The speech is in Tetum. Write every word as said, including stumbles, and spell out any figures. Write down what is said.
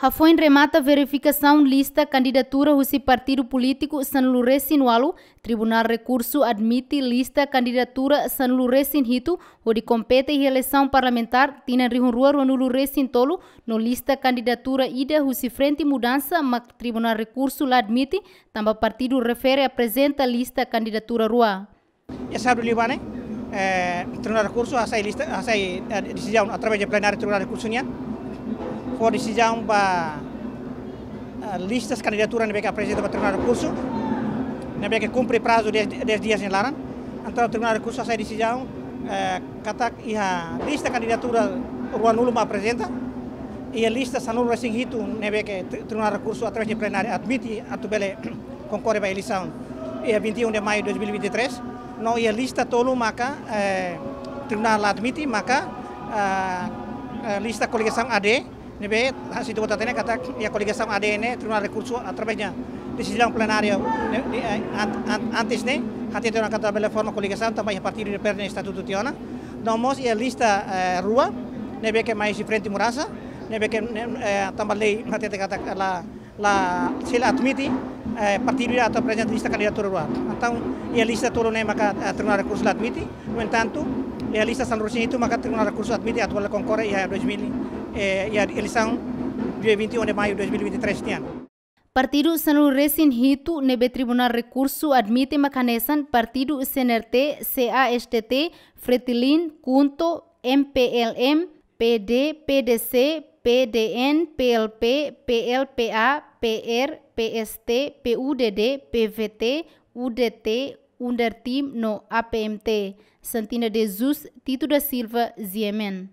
Hafoin remata verifikasaun lista kandidatura husi partidu polítiku sanulu-resin-ualu, Tribunál Rekursu admite lista kandidatura sanulu-resin-hitu hodi kompete iha eleisaun parlamentár tinan rihun rua ruanulu-resin-tolu, no lista kandidatura ida husi Frente Mudansa mak Tribunál Rekursu la admite, tanba partidu refere aprezenta lista kandidatura rua. Iha sábadu liubá ne'e, eh, Tribunál Rekursu hasai lista, hasai, eh, desizaun através de plenária Tribunál Rekursu nian. Fó desizaun ba, eh, listas kandidatura ne'ebé ke aprezenta ba Tribunál Rekursu, ne'ebé ke kumpre prazu dez, dez dias nia laran. Entaun Tribunál Rekursu hasai desizaun, eh, katak iha lista kandidatura ruanulu mak aprezenta, iha lista sanulu-resin-hitu ne'ebé ke tri-, Tribunál Rekursu através de plenária admite atu bele konkorre ba eleisaun iha vinte e um de maio de dois mil e vinte e três, no iha lista tolu maka, eh, Tribunál la admite maka, eh, eh, lista koligasaun A D, ne'ebé, ah, se ita hatene katak iha koligasaun A D ne'e, Tribunál Rekursu através de desizaun plenária ne'e, de, eh, an-, an-, antes ne'e hatete ona katak labele forma koligasaun tanba iha partidu de perde estatutu tiha ona. No mós iha lista, eh, rua, ne'ebé ke mai husi Frente Mudansa, ne'ebé ke ne'e, eh, tanba lei hatete katak la, la, sei la admite, eh, partidu ida atu aprezenta lista kandidatura rua. Entaun iha lista tolu ne'e maka, eh, Tribunál Rekursu la admite. No entantu, iha lista sanulu-resin-hitu maka Tribunál Rekursu admite atu bele konkorre iha dois mil, eh, iha eleisaun dia vinte e um de maio de dois mil e vinte e três nian. Partidu sanulu-resin-hitu ne'ebé Tribunál Rekursu admite mak hanesan partidu C N R T, C A S T T, Fretilin, KHUNTO, M P L M, P D, P D C, P D N, P L P, P L P A, P R, P S T, P U D D, P V T, U D T, UNDERTIM no A P M T. Santina de Jesus, Tito da Silva, G M N.